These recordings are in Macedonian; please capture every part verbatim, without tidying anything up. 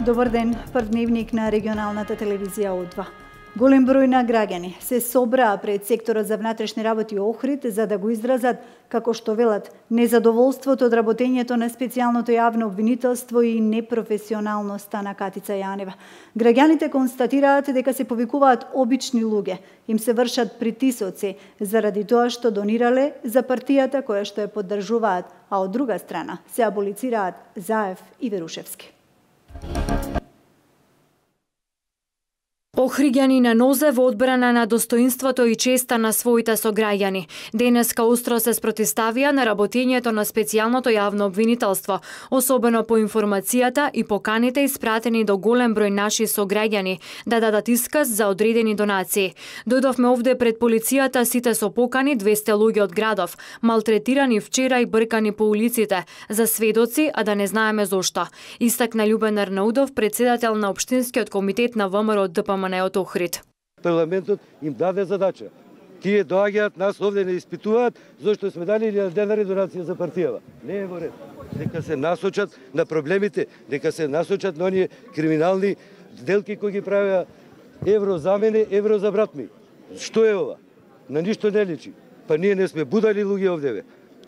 Добар ден, прв дневник на регионалната телевизија О два. Голем број на граѓани се собраа пред секторот за внатрешни работи Охрид за да го изразат, како што велат, незадоволството од работењето на специјалното јавно обвинителство и непрофесионалноста на Катица Јанева. Граѓаните констатираат дека се повикуваат обични луѓе, им се вршат притисоци заради тоа што донирале за партијата која што ја поддржуваат, а од друга страна се аболицираат Заев и Верушевски. Охриѓани на нозе во одбрана на достоинството и честа на своите сограѓани. Денеска остро се спротивставија на работењето на специјалното јавно обвинителство, особено по информацијата и поканите испратени до голем број наши сограѓани да дадат исказ за одредени донации. Дојдовме овде пред полицијата сите со покани двесте луѓе од градов, малтретирани вчера и бркани по улиците, за сведоци, а да не знаеме зошто. Истакна Љубен Арнаудов, председател на Општинскиот комитет на ВМРО Д П М Н од Охрид. Парламентот им даде задача. Тие доаѓаат, нас овде не испитуваат, зашто сме дали илјада денари донација за партијава. Не е во ред. Нека се насочат на проблемите, нека се насочат на оние криминални сделки кои ги правеа евро за мене, евро за брат ми. Што е ова? На ништо не личи. Па ние не сме будали луѓе овде.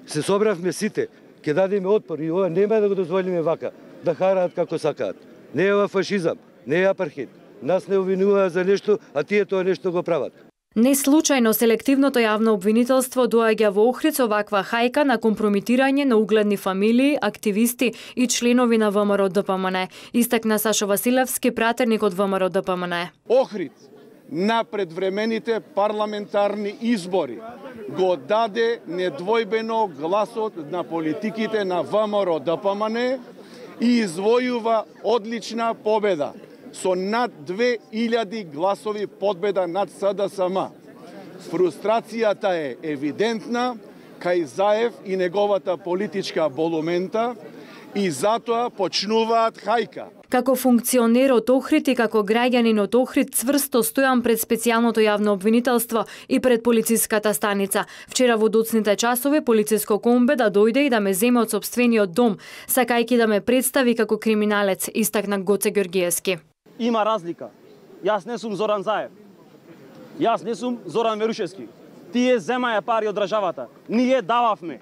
Се собравме сите, ќе дадеме отпор и ова нема да го дозволиме вака, да хараат како сакаат. Не е ова фашизам, не е апархейд. Нас не обвинуваат за нешто, а тие тоа нешто го прават. Не случајно селективното јавно обвинителство доаѓа во Охрид со ваква хајка на компрометирање на угледни фамилии, активисти и членови на ВМРО Д П М Н. Истакна Сашо Василевски, пратерник од ВМРО Д П М Н. Охрид на предвремените парламентарни избори го даде недвојбено гласот на политиките на ВМРО Д П М Н и извојува одлична победа со над две илјади гласови победа над С Д С М. Фрустрацијата е евидентна кај Заев и неговата политичка болумента и затоа почнуваат хајка. Како функционер од Охрид и како граѓанин од Охрид цврсто стојам пред специјалното јавно обвинителство и пред полициската станица. Вчера во доцните часови полициско комбе да дојде и да ме земе од сопствениот дом, сакајќи да ме представи како криминалец, истакна Гоце Ѓоргиевски. Има разлика. Јас не сум Зоран Заев. Јас не сум Зоран Верушевски. Тие земаја пари од државата. Ние дававме.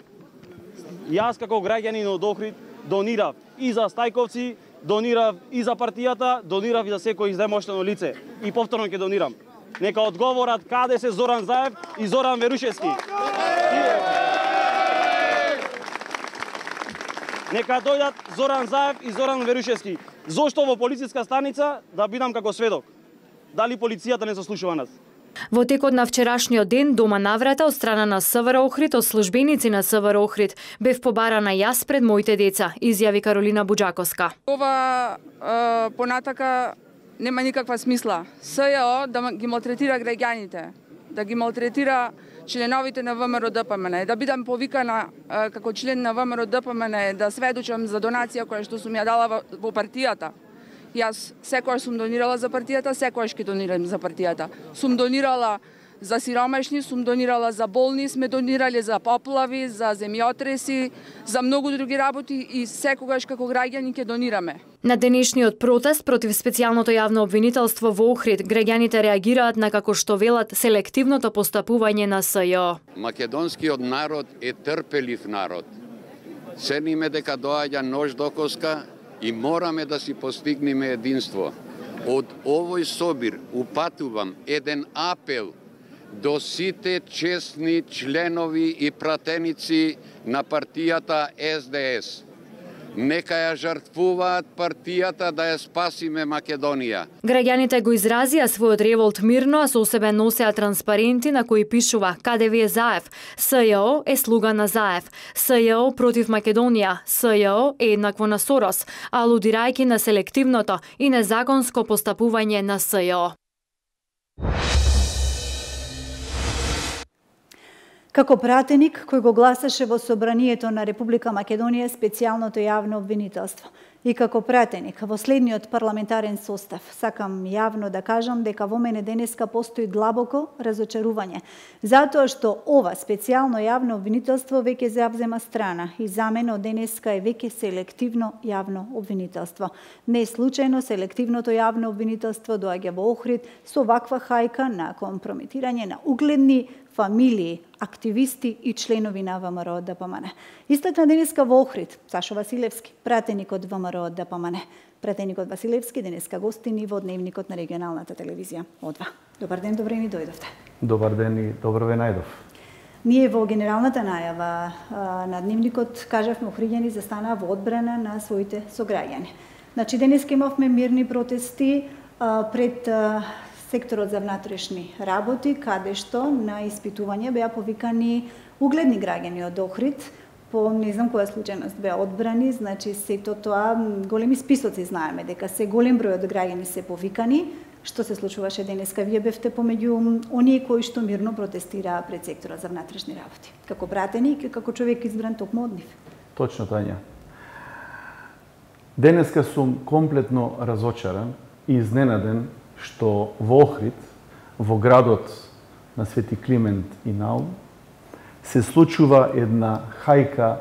Јас како граѓанин од Охрид донирав и за Стајковци, донирав и за партијата, донирав и за секој издемоштено лице. И повторно ќе донирам. Нека одговорат каде се Зоран Заев и Зоран Верушевски. Нека дојдат Зоран Заев и Зоран Верушевски. Зошто во полициска станица да бидам како сведок? Дали полицијата не заслушува нас? Во текот на вчерашниот ден, дома наврата од страна на С В Р Охрид, од службеници на С В Р Охрид, бев побарана јас пред моите деца, изјави Каролина Буџаковска. Ова е, понатака нема никаква смисла. С Ј О да ги малтретира граѓаните, да ги малтретира членовите на ВМРО Д П М Н, да бидам повикана е, како член на ВМРО Д П М Н да сведочам за донација која што сум ја дала во, во партијата. Јас секојаш сум донирала за партијата, секојаш ќе донирам за партијата. Сум донирала за сиромашни, сум донирала за болни, сме донирале за поплави, за земјотреси, за многу други работи и секогаш како граѓани ќе донираме. На денешниот протест против специјалното јавно обвинителство во Охрид, граѓаните реагираат на, како што велат, селективното постапување на С Ј О. Македонскиот народ е трпелив народ. Цениме дека доаѓа нож до коска и мораме да си постигнеме единство. Од овој собир упатувам еден апел до сите честни членови и пратеници на партијата С Д С. Нека ја жртвуваат партијата да ја спасиме Македонија. Граѓаните го изразија својот револт мирно, а со себе носеа транспаренти на кои пишува "Каде ви е Заев? С Ј О е слуга на Заев. С Ј О против Македонија. С Ј О е еднакво на Сорос", алудирајќи на селективното и незаконско постапување на С Ј О. Како пратеник кој го гласаше во Собранието на Република Македонија специјалното јавно обвинителство. И како пратеник во следниот парламентарен состав, сакам јавно да кажам дека во мене денеска постои длабоко разочарување, затоа што ова специјално јавно обвинителство веќе завзема страна и за мене од денеска е веќе селективно јавно обвинителство. Не случајно селективното јавно обвинителство доаѓа во Охрид со ваква хајка на компрометирање на угледни фамилии, активисти и членови на ВМРО ДПМН. Истакна денеска во Охрид Сашо Василевски, пратеник од ВМРО ДПМН. Пратеникот Василевски денеска гостини во дневникот на регионалната телевизија Одва. Добар ден, добре ми дојдовте. Добар ден и добро ве најдов. Ние во генералната најава на дневникот кажавме охриѓани застанаа во одбрана на своите сограѓани. Значи денеска имавме мирни протести пред секторот за внатрешни работи, каде што на испитување беа повикани угледни граѓани од Охрид, по не знам која случајност беа одбрани, значи сето тоа големи списоци знаеме дека се голем број од граѓани се повикани. Што се случуваше денеска? Вие бевте помеѓу оние кои што мирно протестираа пред секторот за внатрешни работи, како пратеник и како човек избран токму од нив. Точно, Тања. Денеска сум комплетно разочаран и изненаден што во Охрид, во градот на Свети Климент и Наум, се случува една хајка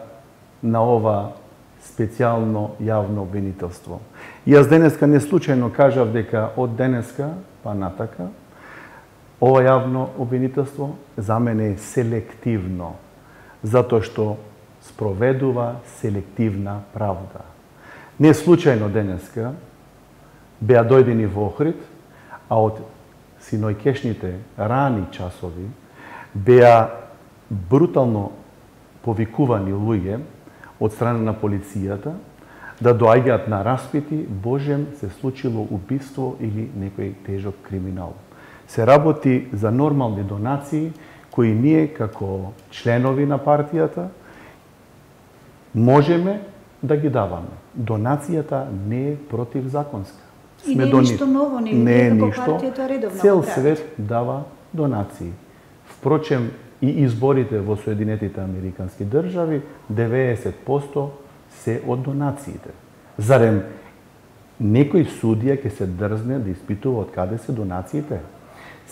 на ова специјално јавно обвинителство. Јас денеска не случајно кажав дека од денеска па натака ова јавно обвинителство за мене е селективно, затоа што спроведува селективна правда. Не случајно денеска беа дојдени во Охрид, а од синојкешните рани часови беа брутално повикувани луѓе од страна на полицијата да доаѓаат на распити, божем се случило убиство или некој тежок криминал. Се работи за нормални донации кои ние како членови на партијата можеме да ги даваме. Донацијата не е противзаконска. И не е ништо ново, не, не е како ништо. партијата редовно Цел го прави. свет дава донации. Впрочем, и изборите во Соединетите Американски држави, деветдесет проценти се од донациите. Зарем некој судија ќе се дрзне да испитува од каде се донациите?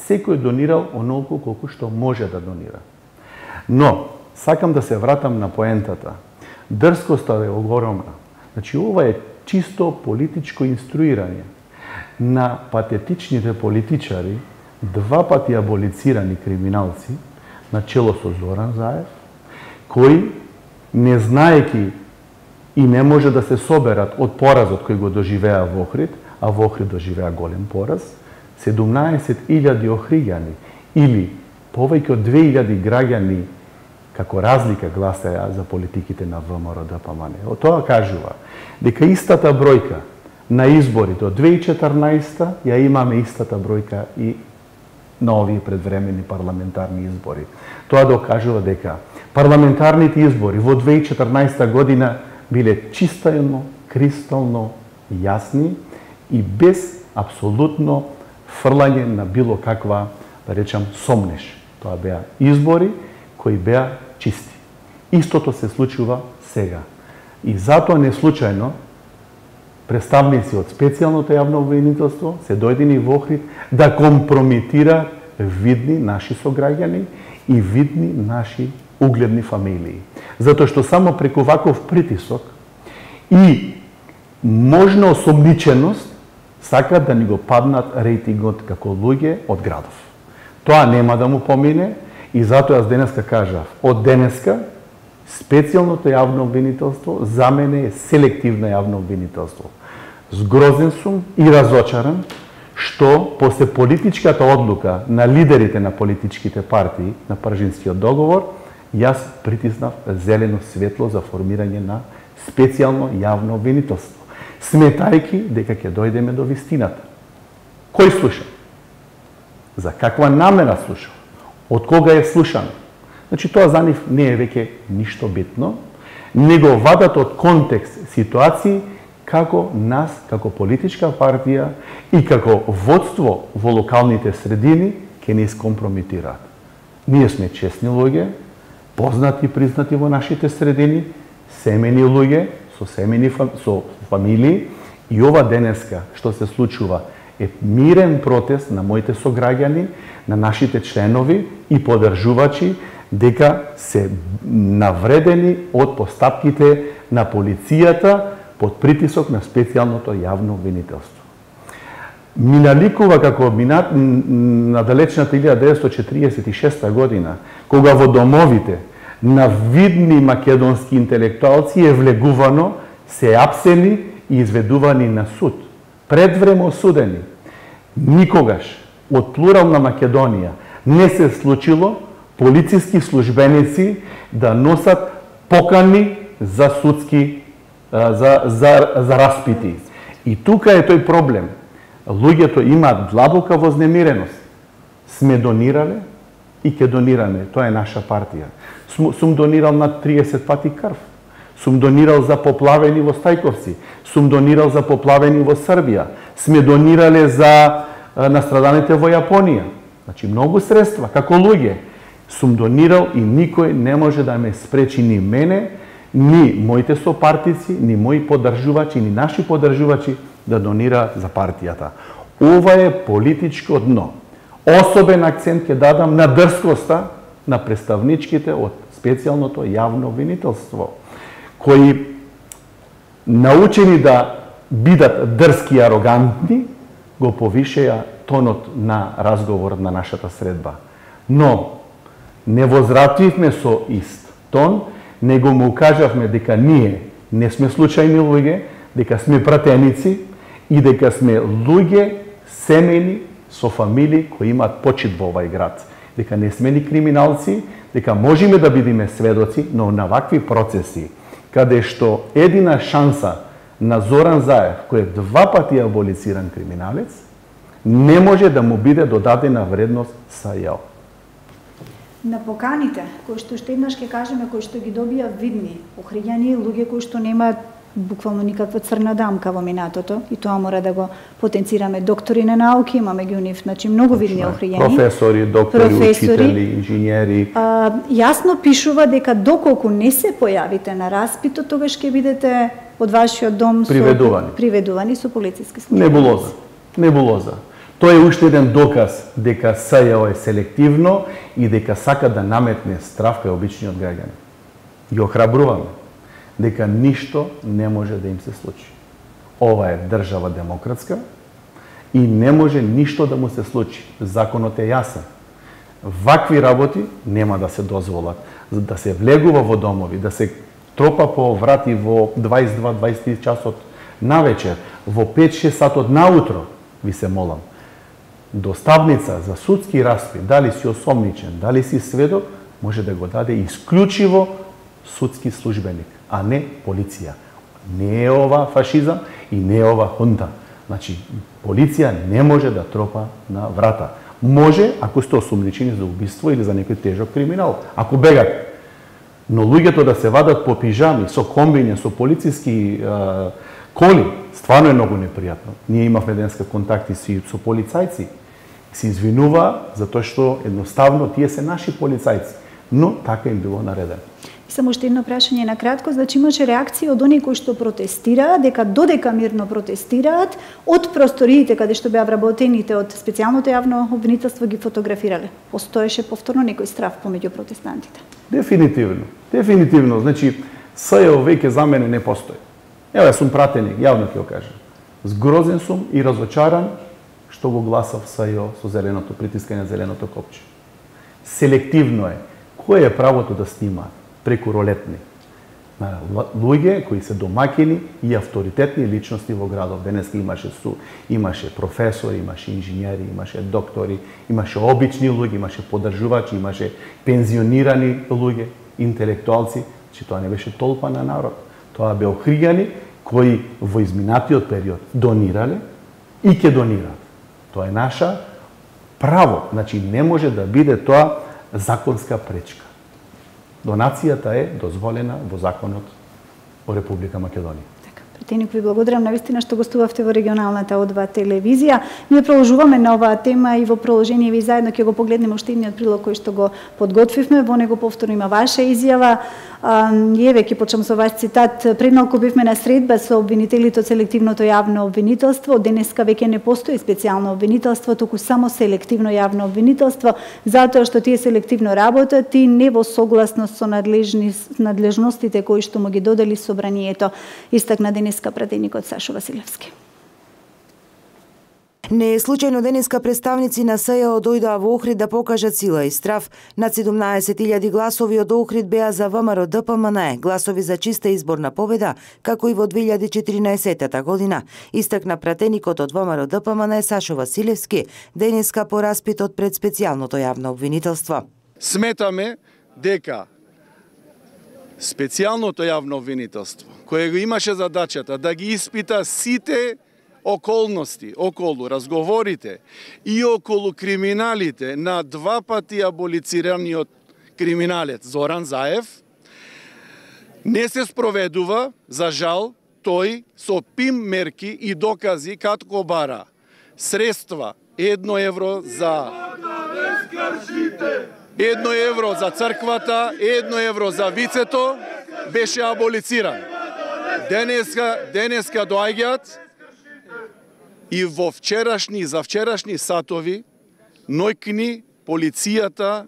Секој донирал онолку колку што може да донира. Но, сакам да се вратам на поентата. Дрскоста е огромна. Значи, ова е чисто политичко инструирање на патетичните политичари, два пати аболицирани криминалци, на чело со Зоран Заев, кои, не знаеки и не може да се соберат од поразот кој го доживеа во Охрид, а во Охрид доживеа голем пораз, седумнаесет илјади охриѓани или повеќе од две илјади граѓани како разлика гласаја за политиките на ВМРО ДПМН. Од тоа кажува дека истата бројка на изборите од две илјади и четрнаесета ја имаме истата бројка и на овие предвремени парламентарни избори. Тоа докажува дека парламентарните избори во две илјади и четрнаесета година биле чистално, кристално јасни и без апсолутно фрлање на било каква, да речам, сомнеш. Тоа беа избори кои беа чисти. Истото се случува сега. И затоа не случајно представници од специјалното јавно обвинителство се дојдени во Охрид да компрометира видни наши сограѓани и видни наши угледни фамилии. Затоа што само преку ваков притисок и можна осомниченост сакаат да ни го паднат рейтингот како луѓе од градов. Тоа нема да му помине и затоа јас денеска кажав, од денеска специјалното јавно обвинителство за мене е селективно јавно обвинителство. Згрозен сум и разочаран што после политичката одлука на лидерите на политичките партии на Пржинскиот договор, јас притиснав зелено светло за формирање на специјално јавно обвинителство, сметајки дека ќе дојдеме до вистината. Кој слуша? За каква намера слуша? Од кога е слушано? Значи, тоа за нив не е веќе ништо битно, него вадат од контекст ситуации како нас, како политичка партија и како водство во локалните средини ќе не искомпрометираат. Ние сме честни луѓе, познати и признати во нашите средини, семени луѓе, со со семени, со фамилии, и ова денеска што се случува е мирен протест на моите сограѓани, на нашите членови и поддржувачи, дека се навредени од постапките на полицијата под притисок на специјалното јавно обвинителство. Ми наликува како минат на далечната илјада деветстотини четиридесет и шеста година, кога во домовите на видни македонски интелектуалци е влегувано, се апсени и изведувани на суд, предвремо осудени. Никогаш од плурална Македонија не се случило полициски службеници да носат покани за судски за, за, за распити. И тука е тој проблем. Луѓето имаат длабока вознемиреност. Сме донирале и ќе донираме. Тоа е наша партија. Сум, сум донирал над триесет пати крв. Сум донирал за поплавени во Стајковци. Сум донирал за поплавени во Србија. Сме донирале за настраданите во Јапонија. Значи, многу средства, како луѓе. Сум донирал и никој не може да ме спречи ни мене, ни моите сопартици, ни мои поддржувачи, ни наши поддржувачи да донираат за партијата. Ова е политичко дно. Особен акцент ќе дадам на дрскоста на представничките од специјалното јавно обвинителство, кои научени да бидат дрски и арогантни, го повишеја тонот на разговор на нашата средба. Но не возвративме со ист тон, него му укажавме дека ние не сме случајни луѓе, дека сме пратеници и дека сме луѓе семејни со фамилии кои имаат почит во овај град. Дека не сме ни криминалци, дека можеме да бидеме сведоци, но на вакви процеси, каде што едина шанса на Зоран Заев, кој е два пати аболициран криминалец, не може да му биде додадена вредност са јао. На поканите, кои што уште еднаш ќе кажеме, кои што ги добија видни охриѓани, луѓе кои што немаат буквално никаква црна дамка во минатото, и тоа мора да го потенцираме. Доктори на науки, имаме ги унив, значи многу видни охриѓани. Професори, доктори, професори, учители, инженери. А, јасно пишува дека доколку не се појавите на распитот, тогаш ќе бидете од вашиот дом приведувани со, приведувани со полициски службеници. Небулоза. Небулоза. Тоа е уште еден доказ дека СЈО е селективно и дека сака да наметне страв кај обичниот граѓани. Ги охрабруваме дека ништо не може да им се случи. Ова е држава демократска и не може ништо да му се случи. Законот е јасен. Вакви работи нема да се дозволат. Да се влегува во домови, да се тропа по врати во дваесет и два дваесет и три часот навечер, во пет шест сатот наутро, ви се молам. Доставница за судски распит, дали си осомничен, дали си сведок, може да го даде исклучиво судски службеник, а не полиција. Не е ова фашизам и не е ова хунта. Значи, полиција не може да тропа на врата. Може, ако сте осомничени за убиство или за некој тежок криминал, ако бегат. Но луѓето да се вадат по пижами, со комбиња, со полициски е, коли, стварно е многу непријатно. Ние имавме денеска контакти со полицајци, се извинува затоа што едноставно тие се наши полицајци, но така им било наредено. Само уште едно прашање на кратко, значи имаше реакција од оние кои што протестираат, дека додека мирно протестираат, од просториите каде што беа вработените од специјалното јавно обвинителство ги фотографирале. Постоеше повторно некој страв помеѓу протестантите? Дефинитивно, дефинитивно. Значи, СЈО веќе за мене не постои. Ево, јас сум пратеник, јавно ќе го кажам. Згрозен сум и разочаран што го гласав СЈО со зеленото притискање зеленото копче. Селективно е. Кој е правото да снима преку ролетни? На луѓе кои се домакини и авторитетни личности во градот. Денеска имаше су, имаше професори, имаше инженери, имаше доктори, имаше обични луѓе, имаше поддржувачи, имаше пензионирани луѓе, интелектуалци, че тоа не беше толпа на народ. Тоа беа охриѓани кои во изминатиот период донирале и ќе донираат. Тоа е наша право. Значи, не може да биде тоа законска пречка. Донацијата е дозволена во законот во Република Македонија. Така, пратеник, ви благодарам навистина што гостувавте во регионалната О два телевизија. Ние продолжуваме на оваа тема и во продолжение ви заедно ќе го погледнеме уште едниот прилог кој што го подготвивме. Во него повторно има ваша изјава. Еве ќе почнам со ваш цитат. Пред малку бевме на средба со обвинителите од селективното јавно обвинителство. Денеска веќе не постои специјално обвинителство, туку само селективно јавно обвинителство, затоа што тие селективно работат и не во согласност со надлежни, надлежностите кои што му ги додели собранието, истакна денеска пратеникот Сашо Василевски. Не е случајно денеска представници на СЈО дојдоа во Охрид да покажат сила и страв. Над седумнаесет илјади гласови од Охрид беа за ВМРО Д П М Н Е, гласови за чиста изборна победа, како и во две илјади и четиринаесетта година. Истакна пратеникот од ВМРО Д П М Н Е Сашо Василевски денеска по распитот пред специјалното јавно обвинителство. Сметаме дека специјалното јавно обвинителство, кое го имаше задачата да ги испита сите околности околу разговорите и околу криминалите на два пати аболицираниот криминалец Зоран Заев, не се спроведува, за жал, тој со пим мерки и докази катко бара средства едно евро за едно евро за црквата, едно евро за вицето, беше аболициран. Денеска, денеска доаѓаат и во вчерашни, за вчерашни сатови, ноќни полицијата,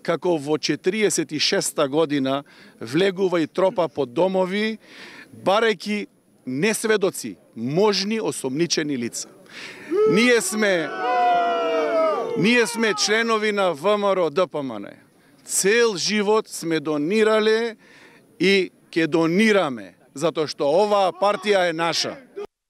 како во четириесет и шеста година, влегува и тропа по домови, барајќи несведоци, можни осомничени лица. Ние сме, ние сме членови на ВМРО Д П М Н Е. Цел живот сме донирале и ќе донираме, затоа што оваа партија е наша.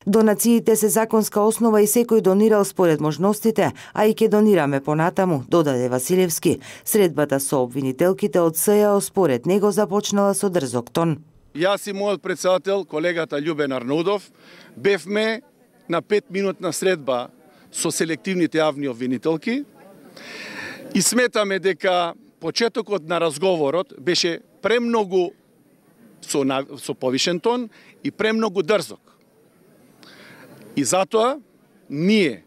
Донациите се законска основа и секој донирал според можностите, а и ќе донираме понатаму, додаде Василевски. Средбата со обвинителките од СЈО според него започнала со дрзок тон. Јас и мојот председател, колегата Љубен Арнаудов, бевме на петминутна средба со селективните јавни обвинителки и сметаме дека почетокот на разговорот беше премногу со, со повишен тон и премногу дрзок. И затоа, ние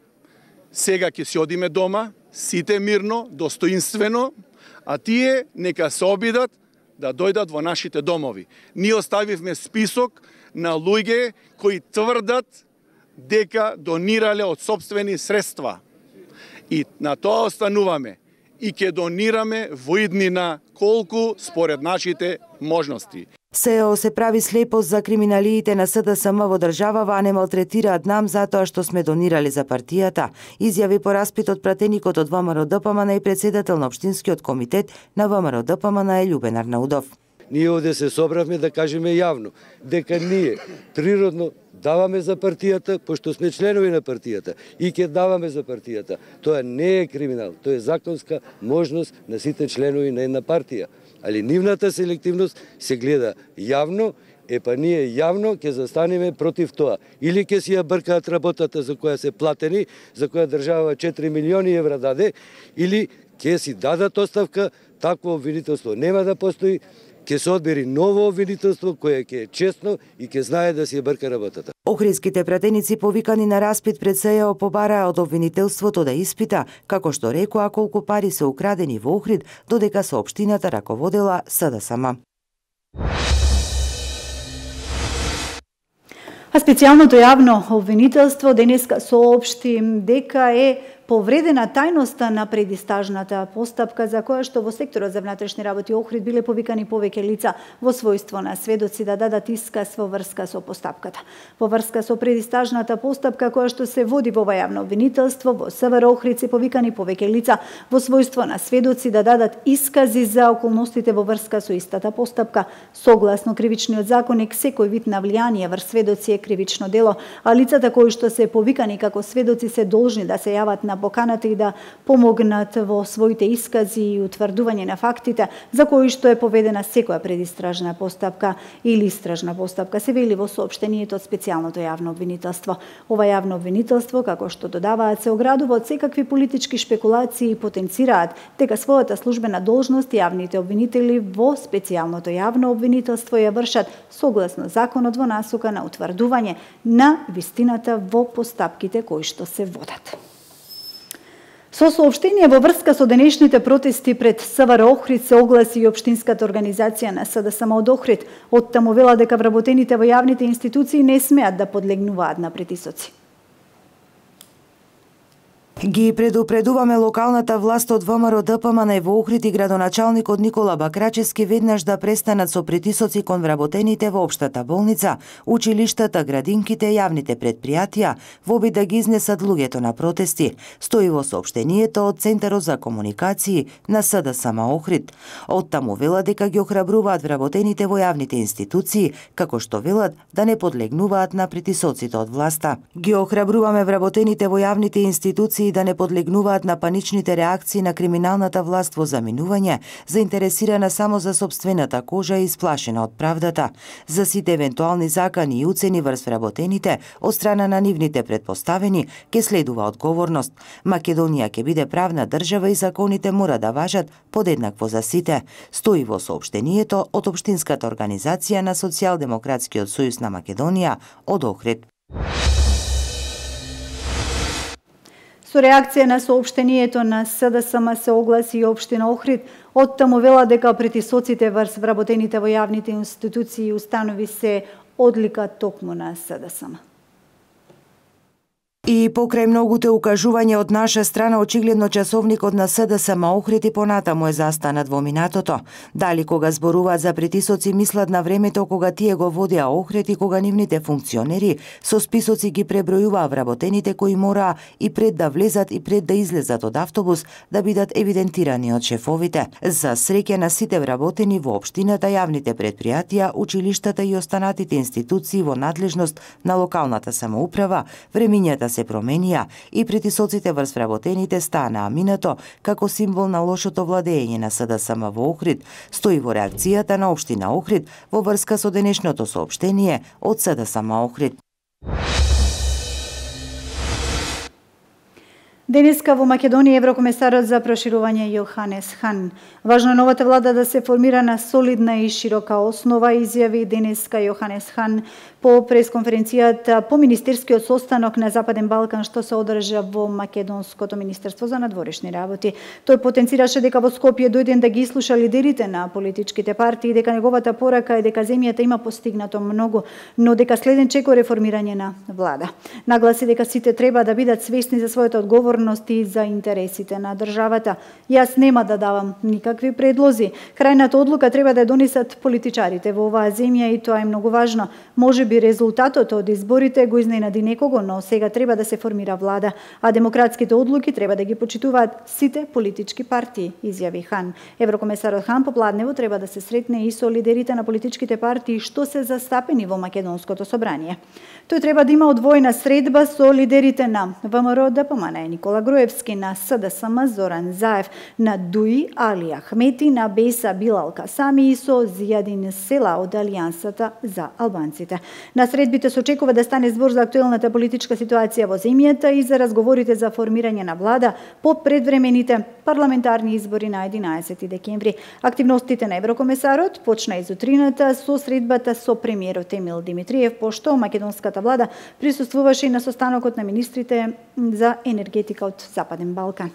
сега ќе се одиме дома, сите мирно, достоинствено, а тие нека се обидат да дојдат во нашите домови. Ние оставивме список на луѓе кои тврдат дека донирале од сопствени средства. И на тоа остануваме. И ќе донираме во иднина колку според нашите можности. СЈО се прави слепост за криминалиите на С Д С М во државава, а не малтретираат нам затоа што сме донирали за партијата, изјави по распитот пратеникот од ВМРО Д П М Н Е и председател на Општинскиот комитет на ВМРО Д П М Н Е Љубен Арнаудов. Ние овде се собравме да кажеме јавно дека ние природно даваме за партијата, пошто сме членови на партијата и ќе даваме за партијата. Тоа не е криминал, тоа е законска можност на сите членови на една партија. Али нивната селективност се гледа јавно, е па ние јавно ќе застанеме против тоа. Или ќе си ја бркаат работата за која се платени, за која држава четири милиони евра даде, или ќе си дадат оставка, такво обвинителство нема да постои, ќе се одбери ново обвинителство кое ќе е честно и ќе знае да си ја брка работата. Охридските пратеници повикани на распит пред СЈО побараа од обвинителството да испита, како што рекоа колку пари се украдени во Охрид, додека со општината раководела С Д С М. А специјалното јавно обвинителство денеска соопшти дека е повредена тајноста на предистажната постапка за која што во секторот за внатрешни работи Охрид биле повикани повеќе лица во својство на сведоци да дадат исказ во врска со постапката. Во врска со предистажната постапка која што се води во ова јавно обвинителство, во С В Р Охрид се повикани повеќе лица во својство на сведоци да дадат искази за околностите во врска со истата постапка. Согласно кривичниот законник, секој вид навлијание врз сведоци е кривично дело, а лицата кои што се повикани како сведоци се должни да се јават на поканата и да помогнат во своите искази и утврдување на фактите за кои што е поведена секоја предистражна постапка или истражна постапка, се вели во соопштението од специјалното јавно обвинителство. Ова јавно обвинителство, како што додаваат, се оградува од секакви политички шпекулации и потенцираат дека својата службена должност јавните обвинители во специјалното јавно обвинителство ја вршат согласно законот во насока на утврдување на вистината во постапките кои што се водат. Со соопштение во врска со денешните протести пред СВР Охрид се огласи и општинската организација на СДСМ од Охрид. Оттаму вела дека вработените во јавните институции не смеат да подлегнуваат на притисоци. Ги предупредуваме локалната власт од ВМРО ДПМН во Охрид и градоначалникот Никола Бакрачевски веднаш да престанат со притисоци кон вработените во општата болница, училиштата, градинките, јавните предпријатија, во обид да ги изнесат луѓето на протести, стои во соопштението од Центарот за комуникации на СДСМ Охрид. Оттаму велат дека ги охрабруваат вработените во јавните институции, како што велат да не подлегнуваат на притисоците од власта. Ги охрабруваме вработените во јавните институции да не подлегнуваат на паничните реакции на криминалната власт во заминување, заинтересирана само за сопствената кожа и исплашена од правдата. За сите евентуални закани и уцени врз вработените од страна на нивните предпоставени ќе следува одговорност. Македонија ќе биде правна држава и законите мора да важат подеднакво за сите, стои во соопштението од општинската организација на Социјалдемократскиот сојуз на Македонија од Охрид. Со реакција на соопштението на СДСМ се огласи и општина Охрид. Оттаму вела дека притисоците врз вработените во јавните институции и установи се одлика токму на СДСМ. И покрај многуте укажувања од наша страна, очигледно часовникот на СДСМ Охрид и понатаму е застанат во минатото. Дали кога зборуваат за притисоци мислат на времето кога тие го водеа Охрид и кога нивните функционери со списоци ги пребројуваа вработените кои мораа и пред да влезат и пред да излезат од автобус да бидат евидентирани од шефовите. За среќа на сите вработени во општината, јавните предпријатија, училиштата и останатите институции во надлежност на локалната самоуправа, времињата се променија и притисоците врз вработените станаа минато како символ на лошото владење на СДСМ во Охрид, стои во реакцијата на општина Охрид во врска со денешното соопштение од СДСМ Охрид. Денеска во Македонија еврокомесарот за проширување Јоханес Хан. Важно е новата влада да се формира на солидна и широка основа, изјави денеска Јоханес Хан по пресконференцијата по министерскиот состанок на Западен Балкан што се одржа во Македонското министерство за надворешни работи. Тој потенцираше дека во Скопје дојден да ги слуша лидерите на политичките партии, дека неговата порака е дека земјата има постигнато многу, но дека следен чекор реформирање на влада. Нагласи дека сите треба да бидат свесни за својата одговорност и за интересите на државата. Јас нема да давам никакви предлози. Крајната одлука треба да ја донесат политичарите во оваа земја и тоа е многу важно. Може би резултатот од изборите го изненади некого, но сега треба да се формира влада, а демократските одлуки треба да ги почитуваат сите политички партии, изјави Хан. Еврокомесарот Хан попладнево треба да се сретне и со лидерите на политичките партии што се застапени во Македонското собрание. Тој треба да има одвоена средба со лидерите на ВМРО ДПМН, Никола Груевски, на СДСМ Зоран Заев, на ДУИ Али Ахмети, на Беса Билал Касами и со Зијадин Села од Алијансата за албанците. На средбите се очекува да стане збор за актуелната политичка ситуација во земјата и за разговорите за формирање на влада по предвремените парламентарни избори на единаесети декември. Активностите на еврокомесарот почна изутрината со средбата со премиерот Емил Димитриев, пошто македонската влада присуствуваше и на состанокот на министрите за енергетика од Западен Балкан.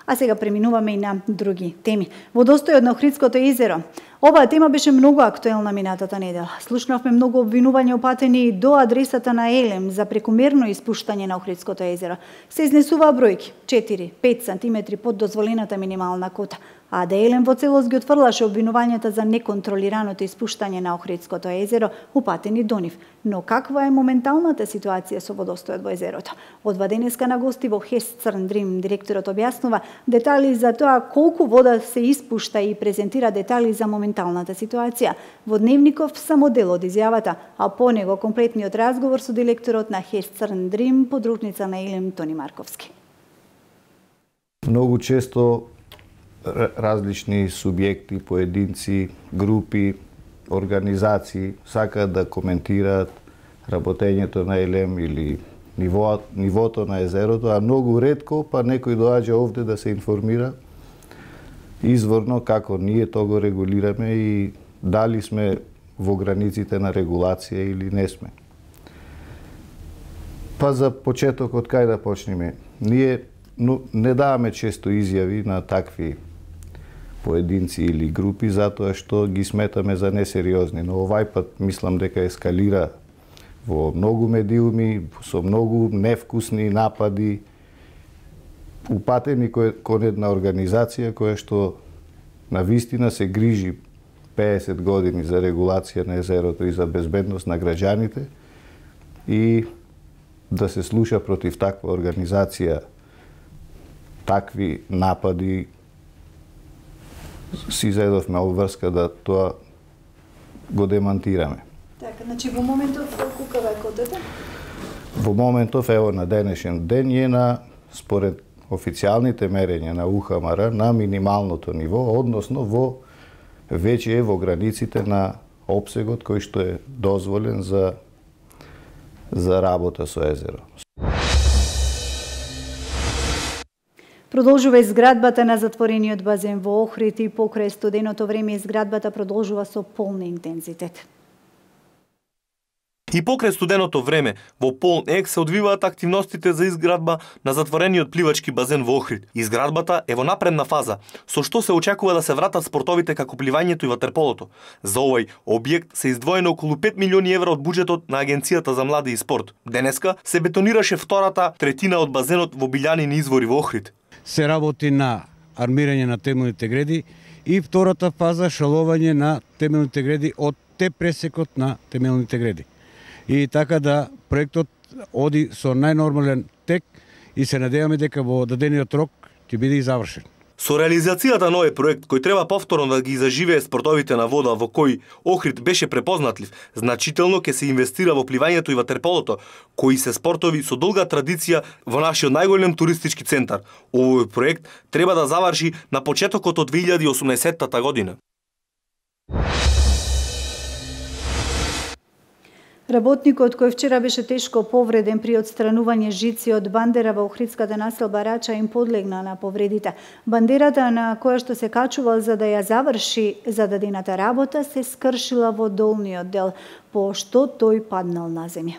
А сега преминуваме и на други теми. Водостојот на Охридското езеро. Оваа тема беше многу актуелна минатата недела. Слушнавме многу обвинувања упатени до адресата на Елем за прекумерно испуштање на Охридското езеро. Се изнесуваа бројки четири до пет сантиметри под дозволената минимална кота. А да Елем во целост ги отфрлаше обвинувањата за неконтролираното испуштање на Охридското езеро, упатени до нив. Но каква е моменталната ситуација со водостојот во езерото? Одва денеска на гости во Хест Црн Дрим директорот објаснува детали за тоа колку вода се испушта и презентира детали за моменталната ситуација. Во дневников само дел од изјавата, а по него комплетниот разговор со директорот на Хест Црн Дрим, подружница на Елем Тони Марковски. Многу често различни субјекти, поединци, групи, организации сакаат да коментираат работењето на Елем или ниво, нивото на езерото, а многу ретко па некој доаѓа овде да се информира изворно како ние тоа го регулираме и дали сме во границите на регулација или не сме. Па за почеток од кај да почнеме? Ние но не даваме често изјави на такви поединци или групи, затоа што ги сметаме за несериозни. Но овај пат мислам дека ескалира во многу медиуми, со многу невкусни напади, упатени кон една организација која што на вистина се грижи пеесет години за регулација на езерото и за безбедност на граѓаните, и да се слуша против таква организација такви напади, си заедовме обврска да тоа го демантираме. Така, значи во моментов кукава е котата? Во моментов, ево на денешен ден е на, според официјалните мерења на У Х М Р, на минималното ниво, односно во веќе е во границите на опсегот кој што е дозволен за за работа со езеро. Продолжува изградбата на затворениот базен во Охрид и покрај студеното време изградбата продолжува со полн интензитет. И покрај студеното време, во полн ек се одвиваат активностите за изградба на затворениот пливачки базен во Охрид. Изградбата е во напредна фаза, со што се очекува да се вратат спортовите како пливањето и ватерполото. За овој објект се издвоено околу пет милиони евра од буџетот на Агенцијата за млади и спорт. Денеска се бетонираше втората третина од базенот во Билјанини извори во Охрид. Се работи на армирање на темелните греди и втората фаза шалување на темелните греди од те пресекот на темелните греди. И така да проектот оди со најнормален тек и се надеваме дека во дадениот рок ќе биде и завршен. Со реализацијата на овој проект, кој треба повторно да ги заживее спортовите на вода во кој Охрид беше препознатлив, значително ќе се инвестира во пливањето и ватерполото, кои се спортови со долга традиција во нашиот најголем туристички центар. Овој проект треба да заврши на почетокот од две илјади и осумнаесеттата година. Работникот кој вчера беше тешко повреден при отстранување жици од бандера во охридската населба Рача им подлегна на повредите. Бандерата на која што се качувал за да ја заврши зададената работа се скршила во долниот дел, по што тој паднал на земја.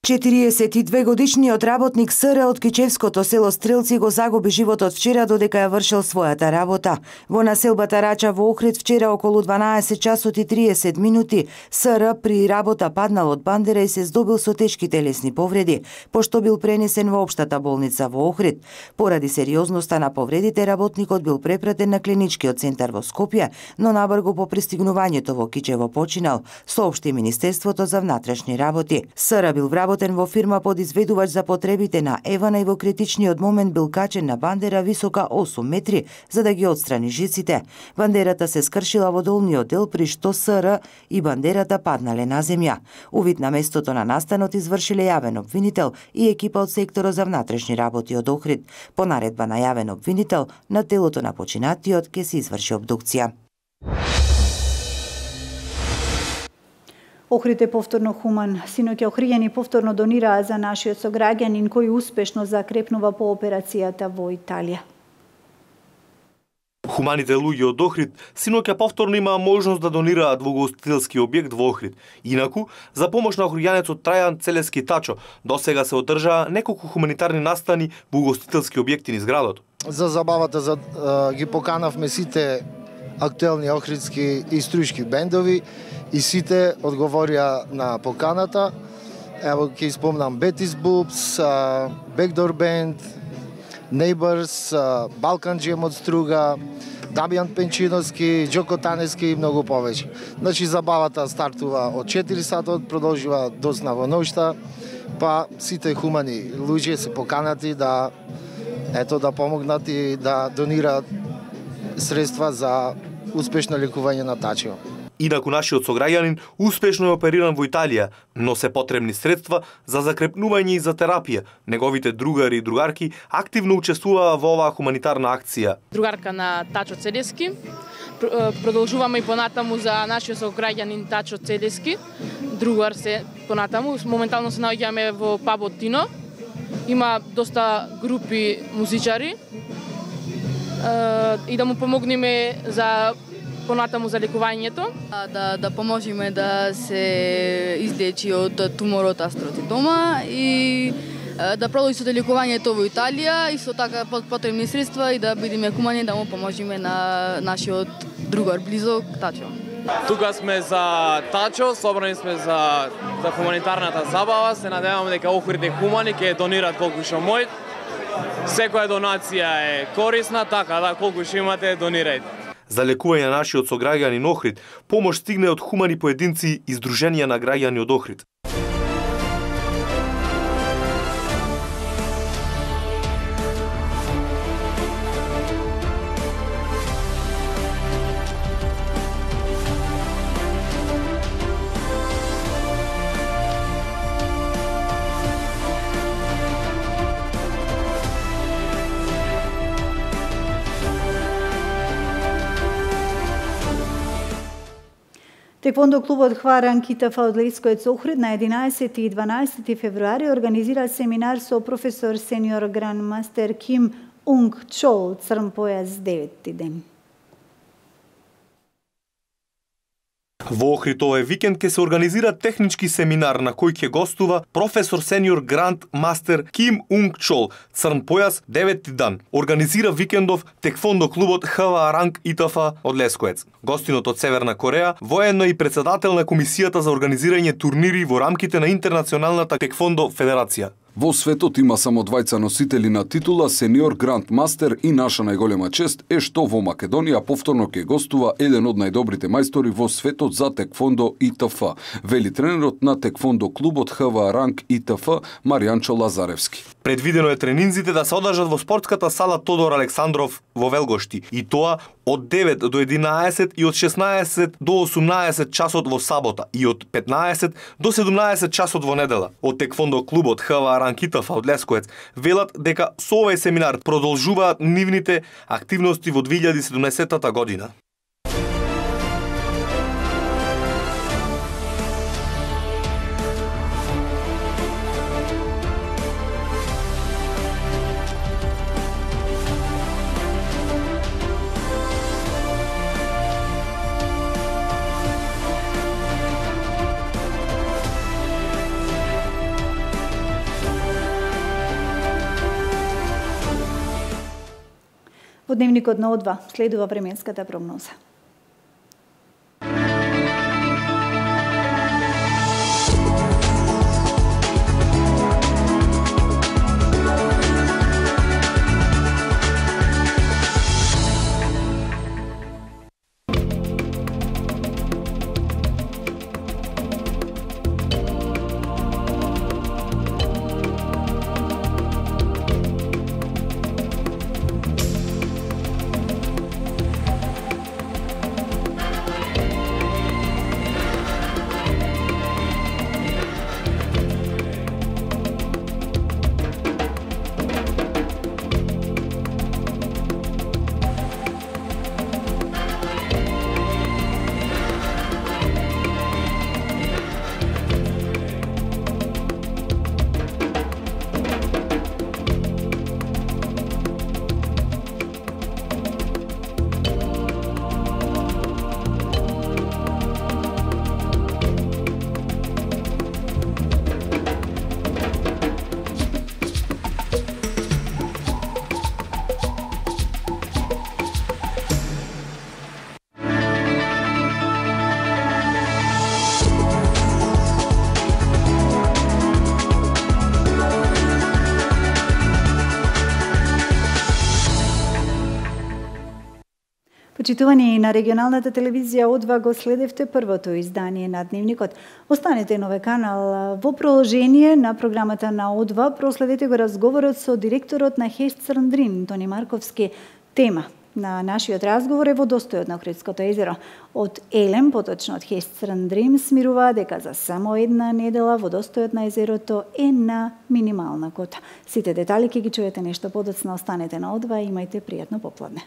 четириесет и две годишниот работник СР од Кичевското село Стрелци го загуби животот вчера додека ја вршел својата работа. Во населбата Рача во Охрид вчера околу дванаесет часот и триесет минути СР при работа паднал од бандера и се здобил со тешки телесни повреди, пошто бил пренесен во општата болница во Охрид. Поради сериозноста на повредите, работникот бил препратен на клиничкиот центар во Скопје, но набрзо по пристигнувањето во Кичево починал, соопшти Министерството за внатрешни работи. СР бил вработен во фирма подизведувач за потребите на Евана и во критичниот момент бил качен на бандера висока осум метри за да ги отстрани жиците. Бандерата се скршила во долниот дел, при што СР и бандерата паднале на земја. Увид на местото на настанот извршиле јавен обвинител и екипа од секторот за внатрешни работи од Охрид. По наредба на јавен обвинител, на телото на починатиот ќе се изврши обдукција. Охрид е повторно хуман. Синоќа охриѓани повторно донираа за нашиот сограѓанин кој успешно закрепнува по операцијата во Италија. Хуманите луѓе од Охрид синоќа повторно имаа можност да донираат во угостителски објект во Охрид. Инаку, за помош на охриѓанецот Трајан Целески Тачо, досега се одржаа неколку хуманитарни настани во угостителски објекти низ градот. За забавата за, а, ги поканавме сите актуелни охридски и струјшки бендови и сите одговорија на поканата. Ево ќе испомнам Betis Boobs, Backdoor Band, Neighbors, Balkan Jam од Струга, Дамјан Пенчиновски, Джоко Танески и многу повеќе. Значи забавата стартува од четири сатот, продолжува досна во ноќта, па сите хумани луѓе се поканати да ето да помогнат и да донираат средства за успешно лекување на Тачо. Инаку нашиот сограѓанин успешно е опериран во Италија, но се потребни средства за закрепнување и за терапија. Неговите другари и другарки активно учествуваа во оваа хуманитарна акција. Другарка на Тачо Целески. Продолжуваме и понатаму за нашиот сограѓанин Тачо Целески. Другар се понатаму. Моментално се наоѓаме во пабот Тино. Има доста групи музичари. И да му помогнеме за понатаму за лекувањето. Да, да поможеме да се излечи од туморот астротидома и да продолжи со лекувањето во Италија и со така потребни средства и да бидеме хумани да му поможиме на нашиот другар близок Тачо. Тука сме за Тачо, собрани сме за за хуманитарната забава, се надеваме дека Охрид е хумани, ќе донираат колку што можат. Секоја донација е корисна, така да колку што имате донирајте. За лекување на нашиот сограѓанин Охрид, помош стигне од хумани поединци и здруженија на граѓани од Охрид. Теквондо клубот Хваран Китафа од Лескоец Охрид на единаесети и дванаесети февруари организира семинар со професор сениор грандмастер Ким Унг Чол, црн појас деветти ден. Во Охрид овој викенд ќе се организира технички семинар на кој ќе гостува професор сениор гранд мастер Ким Унг Чол, црн појас деветти дан. Организира викендов теквондо клубот Хваран Китафа од Лескоец. Гостинот од Северна Кореја, воено и председател на комисијата за организирање турнири во рамките на Интернационалната теквондо федерација. Во светот има само двајца носители на титула сениор гранд мастер и наша најголема чест е што во Македонија повторно ќе гостува еден од најдобрите мајстори во светот за теквондо и ТФ, вели тренерот на теквондо клубот Хваран и ТФ Маријанчо Лазаревски. Предвидено е тренинзите да се одржат во спортската сала Тодор Александров во Велгошти и тоа од девет до единаесет и од шеснаесет до осумнаесет часот во сабота и од петнаесет до седумнаесет часот во недела. Од теквондо клубот Хваран Китафа од Лескоец велат дека со овој семинар продолжуваат нивните активности во две илјади и седумнаесетта година. Во дневникот на О два следува временската прогноза. Почитувани на регионалната телевизија О два го следевте првото издание на Дневникот. Останете на овој канал. Во продолжение на програмата на О два проследете го разговорот со директорот на ХЕС Црн Дрин, Тони Марковски. Тема на нашиот разговор е водостојот на Охридското езеро. Од Елем, поточно од ХЕС Црн Дрин, смируваа дека за само една недела водостојот на езерото е на минимална кота. Сите детали ќе ги чуете нешто подоцна. Останете на О два и имајте пријатно попладне.